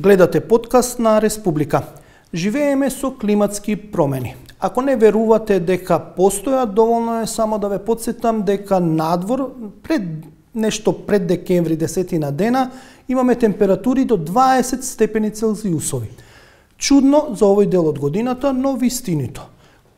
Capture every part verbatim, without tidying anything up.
Гледате подкаст на Республика. Живееме со климатски промени. Ако не верувате дека постојат, доволно е само да ве потсетам дека надвор пред нешто пред декември десетина дена имаме температури до дваесет степени Целзиусови. Чудно за овој дел од годината, но вистинито.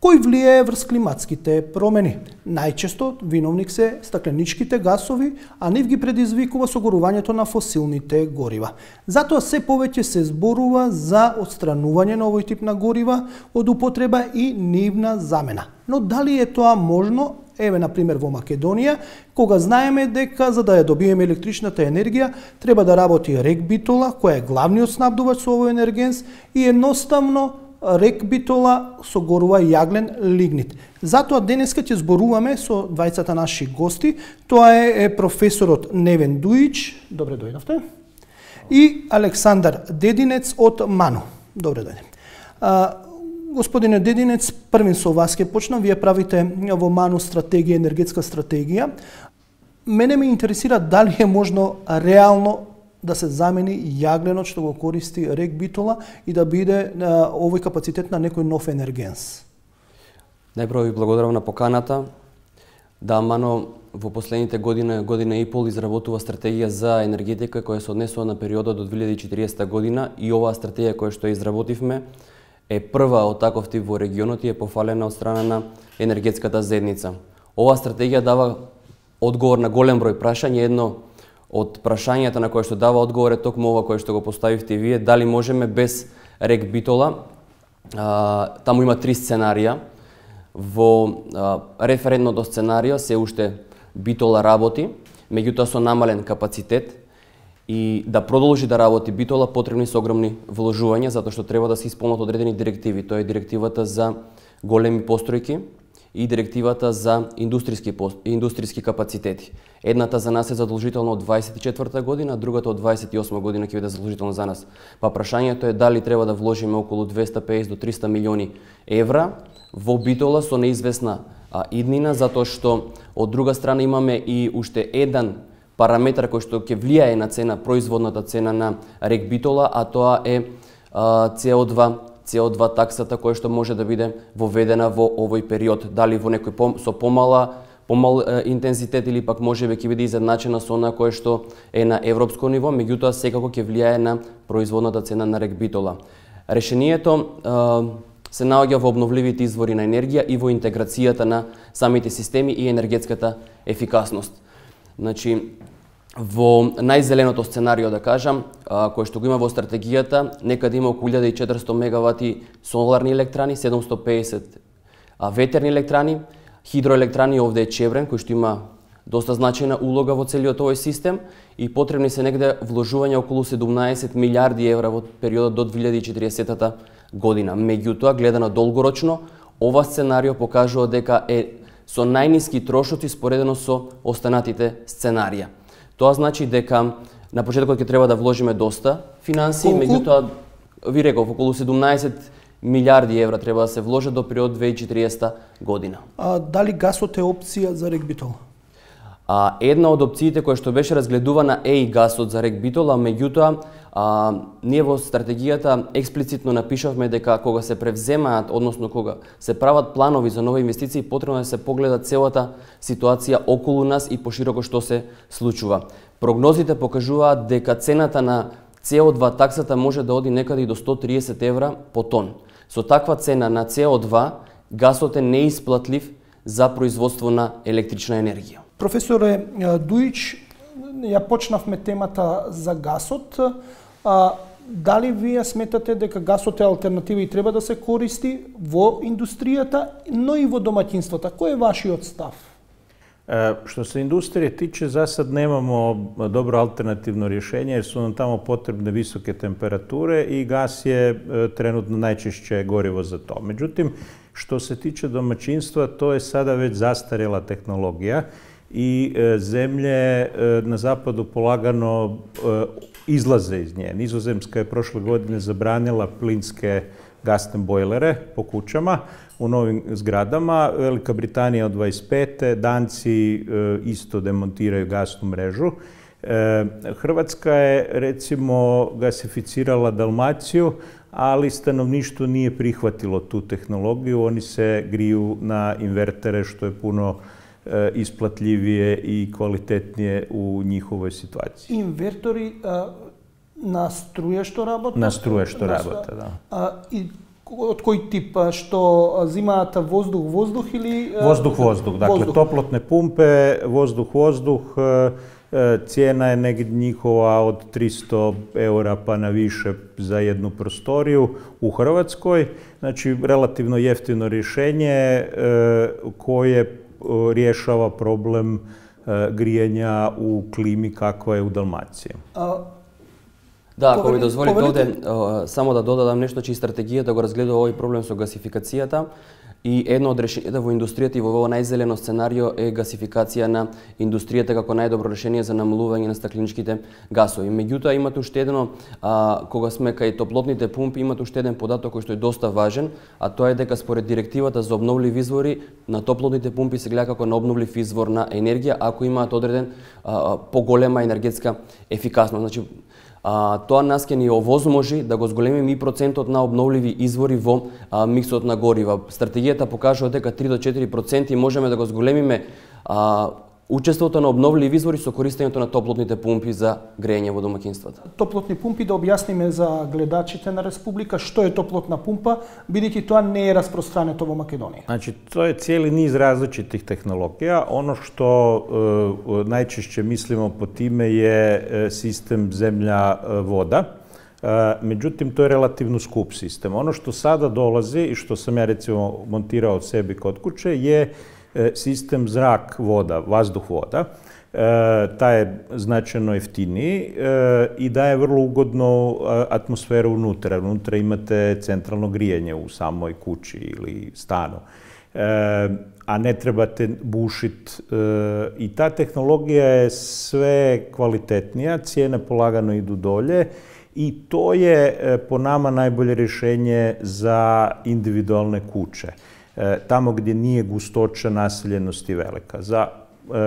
Кој влијае врз климатските промени? Најчесто виновник се стакленичките гасови, а нив ги предизвикува согорувањето на фосилните горива. Затоа се повеќе се зборува за отстранување на овој тип на горива од употреба и нивна замена. Но дали е тоа можно? Еве, например, во Македонија, кога знаеме дека за да ја добиеме електричната енергија, треба да работи рек Битола, која е главниот снабдувач со овој енергенс, и едноставно рек Битола согорува јаглен лигнит. Затоа денеска ќе зборуваме со двајцата наши гости. Тоа е, е професорот Невен Дуиќ, добре дојдовте, и Александар Дединец од МАНУ. Добре дојде. А, господине Дединец, првин со вас ќе почнам. Вие правите во МАНУ стратегија, енергетска стратегија. Мене ме интересира дали е можно реално да се замени јагленот што го користи рек Битола и да биде а, овој капацитет на некој нов енергенс. Најпрво ви благодарам на поканата. Да, МАНУ во последните година, година и пол изработува стратегија за енергетика која се однесува на периодот до две илјади и четириесета година, и оваа стратегија која што изработивме е прва од таков тип во регионот и е пофалена од страна на енергетската заедница. Оваа стратегија дава одговор на голем број прашања. Едно од прашањата на кое што дава одговор е токму ова кое што го поставивте вие, дали можеме без рек Битола. А, таму има три сценарија. Во а, референтното сценарио се уште Битола работи, меѓутоа со намален капацитет, и да продолжи да работи Битола потребни се огромни вложувања, затоа што треба да се исполнат одредени директиви. Тоа е директивата за големи постројки и директивата за индустријски индустријски капацитети. Едната за нас е задолжителна од дваесет и четврта година, другата од дваесет и осма година ќе биде задолжителна за нас. Па прашањето е дали треба да вложиме околу двеста и песет до триста милиони евра во Битола со неизвестна а, иднина, затоа што од друга страна имаме и уште еден параметар кој што ќе влијае на цена, производната цена на рек Битола, а тоа е а, С О два С О два таксата која што може да биде воведена во овој период, дали во некој пом, со помала помал е, интензитет или пак можеби ќе биде изедначена со она кое што е на европско ниво, меѓутоа секако ќе влијае на производната цена на рек Битола. Решението е, се наоѓа во обновливите извори на енергија и во интеграцијата на самите системи и енергетската ефикасност. Значи, во најзеленото сценарио, да кажам, кој што го има во стратегијата, некаде има околу илјада и четиристо мегавати соларни електрани, седумстотини и песет ветерни електрани, хидроелектрани, овде е Чебрен, кој што има доста значајна улога во целиот овој систем, и потребни се негде вложувања околу седумнаесет милијарди евра во периодот до две илјади и четириесета година. Меѓутоа, гледано долгорочно, ова сценарио покажува дека е со најниски трошоци споредено со останатите сценарија. Тоа значи дека на почетокот ќе треба да вложиме доста финансии, меѓутоа ви реков околу седумнаесет милијарди евра треба да се вложат до период две илјади и четириесета година. А дали гасот е опција за рек Битола? А, една од опциите која што беше разгледувана е и гасот за рек Битола, меѓутоа а, ние во стратегијата експлицитно напишавме дека кога се превземаат, односно кога се прават планови за нови инвестиции, потребно да се погледа целата ситуација околу нас и пошироко што се случува. Прогнозите покажуваат дека цената на С О два таксата може да оди некаде и до сто триесет евра по тон. Со таква цена на С О два гасот е неисплатлив за производство на електрична енергија. Професоре Дуиќ, ја почнавме темата за гасот. А, дали вие сметате дека гасот е алтернатива и треба да се користи во индустријата, но и во домаќинствата? Кој е вашиот став? Е, што се индустрија тиче, за сад немамо добро алтернативно решение, jer su nam tamo potrebne visoke temperature i gas je e, trenutno najčešće gorivo za to. Međutim, što se tiče domaćinstva, to je sada već zastarjela tehnologija i e, zemlje e, na zapadu polagano e, izlaze iz nje. Nizozemska je prošle godine zabranila plinske gasne bojlere po kućama u novim zgradama. Velika Britanija od dvadeset pete. Danci e, isto demontiraju gasnu mrežu. Hrvatska je recimo gasificirala Dalmaciju, ali stanovništvo nije prihvatilo tu tehnologiju. Oni se griju na invertere, što je puno isplatljivije i kvalitetnije u njihovoj situaciji. Invertori na struje što работат? Na struje što работат, да. И од кој тип, што зимаат воздух-воздух или... Воздух-воздух, dakle toplotne pumpe, vozdуh-voздух, cijena je negdje njihova od tristo eura pa na više za jednu prostoriju u Hrvatskoj. Znači, relativno jeftino rješenje koje rješava problem grijanja u klimi kakva je u Dalmaciji. Да, ако ми дозволите овде, само да додадам нешто, че и стратегијата го разгледува овој проблем со гасификацијата и едно од решенијата во индустријата и во ово најзелено сценарио е гасификација на индустријата како најдобро решение за намалување на стакленичките гасови. Меѓутоа имате уште едно, а, кога сме кај топлотните пумпи, имате уште еден податок кој што е доста важен, а тоа е дека според директивата за обновливи извори на топлотните пумпи се гледа како на обновлив извор на енергија ако имаат одреден а, поголема енергетска ефикасност. Значи, А, тоа нас ќе ни овозможи да го зголемиме и процентот на обновливи извори во а, миксот на горива. Стратегијата покажува дека три до четири проценти можеме да го зголемиме а, учеството на обновливи извори со користењето на топлотните пумпи за грејење во домаќинствата. Топлотни пумпи, да објасниме за гледачите на Республика што е топлотна пумпа, бидејќи тоа не е распространето во Македонија. Значи, тоа е cijeli niz različitih tehnologija. Ono što e, najčešće mislimo po time je e, sistem zemlja-voda. E, međutim, to je relativno skup sistem. Ono što sada dolazi i što sam ja recimo montirao od sebi kod kuće je sistem zrak-voda, vazduh-voda. E, taj je značajno jeftiniji e, i daje vrlo ugodnu atmosferu unutra. Unutra imate centralno grijanje u samoj kući ili stanu. E, a ne trebate bušiti. E, I ta tehnologija je sve kvalitetnija, cijene polagano idu dolje i to je po nama najbolje rješenje za individualne kuće. Tamo gdje nije gustoća naseljenosti velika. Za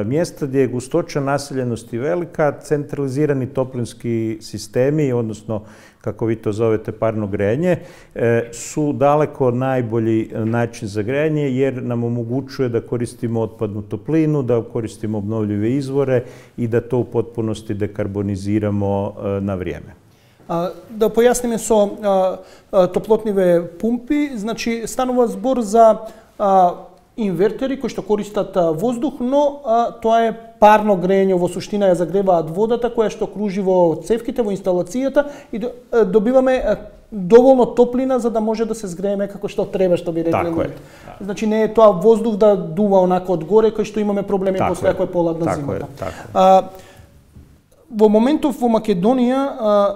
mjesta gdje je gustoća naseljenosti velika, centralizirani toplinski sistemi, odnosno kako vi to zovete parno grejanje, su daleko najbolji način za grejanje jer nam omogućuje da koristimo otpadnu toplinu, da koristimo obnovljive izvore i da to u potpunosti dekarboniziramo na vrijeme. Да појасниме со а, а, топлотниве пумпи, значи станува збор за а, инвертери кои што користат а, воздух, но а, тоа е парно грејење, во суштина ја загреваат водата која што кружи во цевките, во инсталацијата и до, а, добиваме а, доволно топлина за да може да се згрееме како што треба, што би рекле. Така е. Значи не е тоа воздух да дува онака од горе кој што имаме проблеми после ако е поладна зимата. Така е, така. А, во моментов во Македонија а,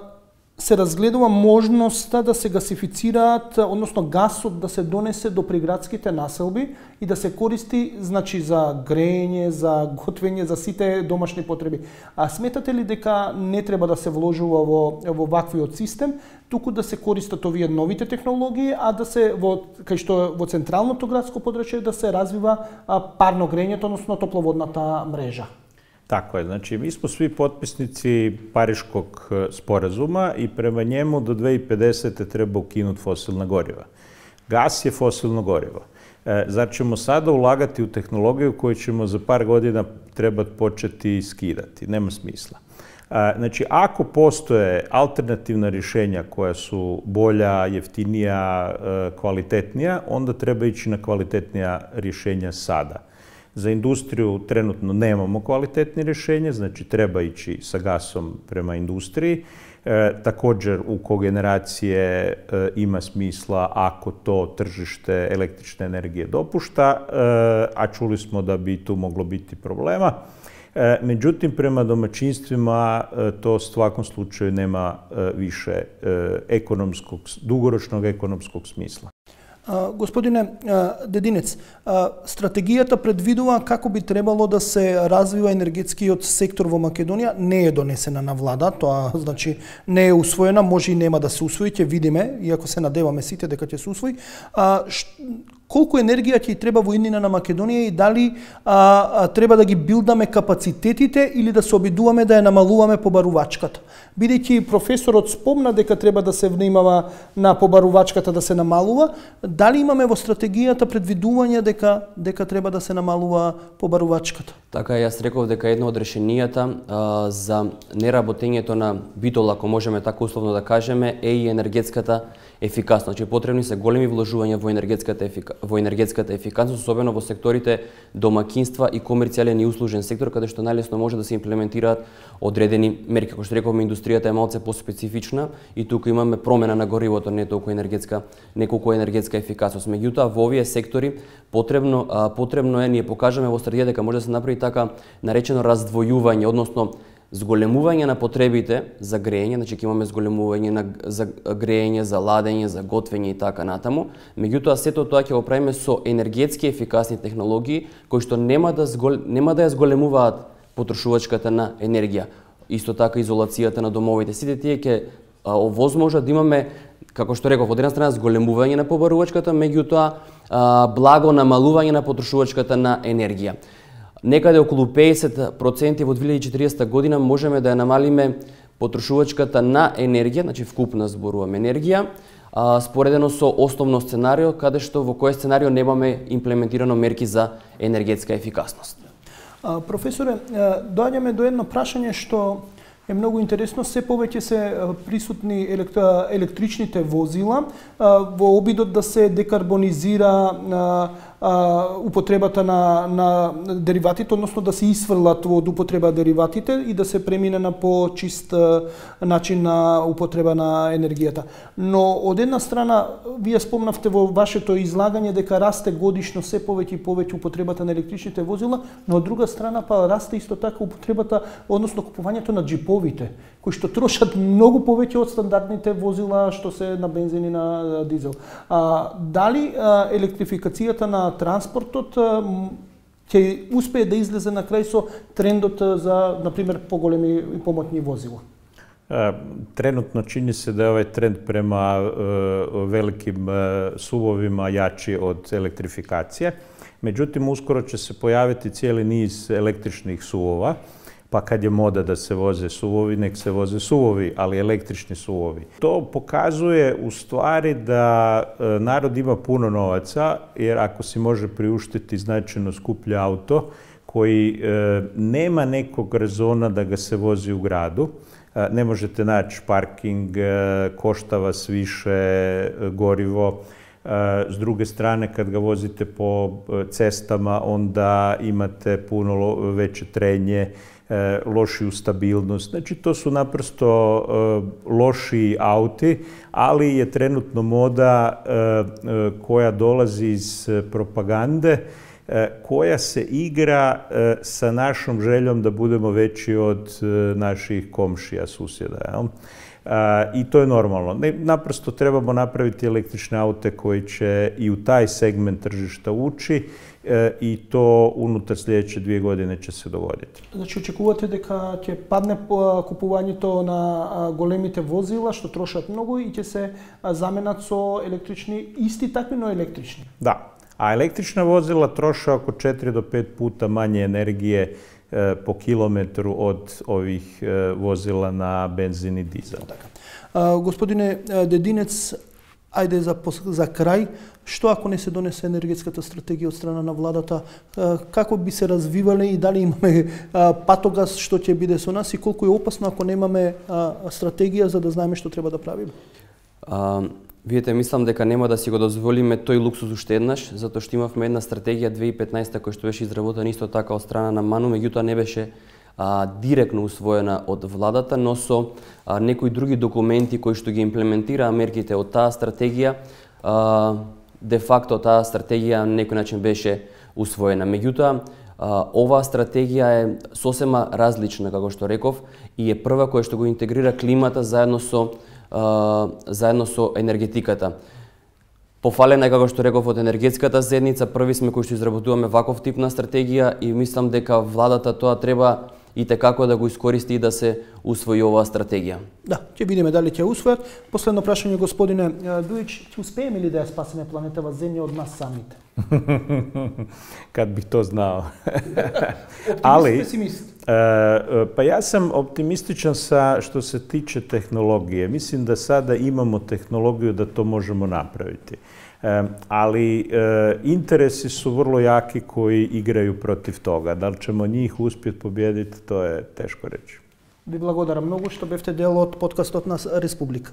се разгледува можноста да се гасифицираат, односно гасот да се донесе до приградските населби и да се користи, значи, за грејење, за готвење, за сите домашни потреби. А сметате ли дека не треба да се вложува во, во ваквиот систем, туку да се користат овие новите технологии, а да се во кај што во централното градско подрачје да се развива а, парно грејењето, односно топловодната мрежа? Tako je, znači mi smo svi potpisnici Pariškog sporazuma i prema njemu do dve hiljade pedesete treba ukinuti fosilna goriva. Gas je fosilno gorivo. E, zar ćemo sada ulagati u tehnologiju koju ćemo za par godina trebati početi skidati? Nema smisla. E, znači, ako postoje alternativna rješenja koja su bolja, jeftinija, e, kvalitetnija, onda treba ići na kvalitetnija rješenja sada. Za industriju trenutno nemamo kvalitetne rješenje, znači treba ići sa gasom prema industriji. E, također u kogeneracije e, ima smisla ako to tržište električne energije dopušta, e, a čuli smo da bi tu moglo biti problema. E, međutim, prema domaćinstvima e, to u svakom slučaju nema e, više e, ekonomskog, dugoročnog ekonomskog smisla. Господине Дединец, стратегијата предвидува како би требало да се развива енергетскиот сектор во Македонија, не е донесена на влада, тоа значи не е усвоена, може и нема да се усвои, ќе видиме, иако се надеваме сите дека ќе се усвои. колку енергија ќе треба во иднина на Македонија и дали а, а, треба да ги билдаме капацитетите или да се обидуваме да ја намалуваме побарувачката. Бидејќи професорот спомна дека треба да се внимава на побарувачката да се намалува, дали имаме во стратегијата предвидување дека дека треба да се намалува побарувачката? Така, јас реков дека едно од решенијата а, за неработењето на битол, ако можеме така условно да кажеме, е и енергетската ефикасност. Значи, потребни се големи вложувања во енергетската ефика... во енергетската ефикасност, особено во секторите домакинства и комерцијален и услужен сектор, каде што најлесно може да се имплементираат одредени мерки. Како што рековме, индустријата е малце поспецифична и тука имаме промена на горивото, не толку енергетска, неколку енергетска ефикасност. Меѓутоа, во овие сектори потребно а, потребно е ние покажаме во стратегија дека може да се направи така наречено раздвојување, односно зголемување на потребите за грејење, значи ќе имаме зголемување на за грејење, за ладење, за готвење и така натаму. Меѓутоа сето тоа ќе го правиме со енергетски ефикасни технологии кои што нема да згол... нема да ја зголемуваат потрошувачката на енергија. Исто така изолацијата на домовите. Сите тие ќе овозможат да имаме, како што реков, од една страна зголемување на побарувачката, меѓутоа благо намалување на потрошувачката на енергија. Некаде околу педесет проценти во две илјади и четириесета година можеме да ја намалиме потрошувачката на енергија, значи вкупна зборуваме енергија, а, споредено со основно сценарио, каде што во кој сценарио немаме имплементирано мерки за енергетска ефикасност. А, професоре, доаѓаме до едно прашање што е многу интересно. Се повеќе се присутни електричните возила во обидот да се декарбонизира употребата на, на дериватите, односно да се исфрлат од употреба дериватите и да се премине на по-чист начин на употреба на енергијата. Но од една страна, вие спомнавте во вашето излагање дека расте годишно се повеќе и повеќе употребата на електричните возила, но од друга страна па расте исто така употребата, односно купувањето на джиповите, кои што трошат многу повеќе од стандардните возила што се на бензин и на дизел. А, дали а, електрификацијата на транспортот ќе успее да излезе на крај со трендот за, например, поголеми и помотни возила? Тренутно чини се да е овај тренд према великим сувовима јачи од електрификација. Меѓутоа, ускоро ќе се појавити цели низ електричних сувова, па кад е мода да се возе сувови, нек се возе сувови, али електрични сувови. То показуе у ствари да народ има пуно новаца, jer ако си може приуштити значајно скупле ауто, кој е, нема неког резона да га се вози у граду, е, не можете наći паркинг, е, коштава свише гориво. S druge strane, kad ga vozite po cestama, onda imate puno veće trenje, lošiju stabilnost. Znači, to su naprosto lošiji auti, ali je trenutno moda koja dolazi iz propagande, koja se igra sa našom željom da budemo veći od naših komšija, susjeda. Jel? I to je normalno. Naprosto trebamo napraviti električne aute koji će i u taj segment tržišta ući i to unutar sljedeće dvije godine će se dogoditi. Znači, очекувате дека ќе падне купувањето на големите возила што трошат многу и ќе се заменат со електрични, исти такви, но електрични? Da. A električna vozila troše oko četiri do pet puta manje energije po kilometru od ovih vozila na benzin i dizel. Така. Господине Дединец, ајде за, за крај, што ако не се донесе енергетската стратегија од страна на владата, како би се развивале и дали имаме патогас што ќе биде со нас и колку е опасно ако немаме стратегија за да знаеме што треба да правиме? А, Видите, мислам дека нема да си го дозволиме тој луксус уште еднаш, затоа што имавме една стратегија две илјади и петнаесета која што беше изработена исто така од страна на МАНУ, меѓутоа не беше а, директно усвоена од владата, но со а, некои други документи кои што ги имплементираа мерките од таа стратегија, а, де факто таа стратегија на некој начин беше усвоена. Меѓутоа, а, оваа стратегија е сосема различна, како што реков, и е прва која што го интегрира климата заедно со Uh, заедно со енергетиката. Пофалена е, како што реков, од енергетската заедница, први сме кои што изработуваме ваков тип на стратегија и мислам дека владата тоа треба и те како да го искористи и да се усвои оваа стратегија. Да, ќе видиме дали ќе усвојат. Последно прашање, господине Дујич, ќе успееме ли да ја спасиме планетава Земја од нас самите? Kad bih to znao. Ali, песимист? pa ja sam optimističan sa što se tiče tehnologije. Mislim da sada imamo tehnologiju da to možemo napraviti. Ali interesi su vrlo jaki koji igraju protiv toga. Da li ćemo njih uspjeti pobijediti, to je teško reći. Ви благодарам многу што бевте дел од подкастот на Республика.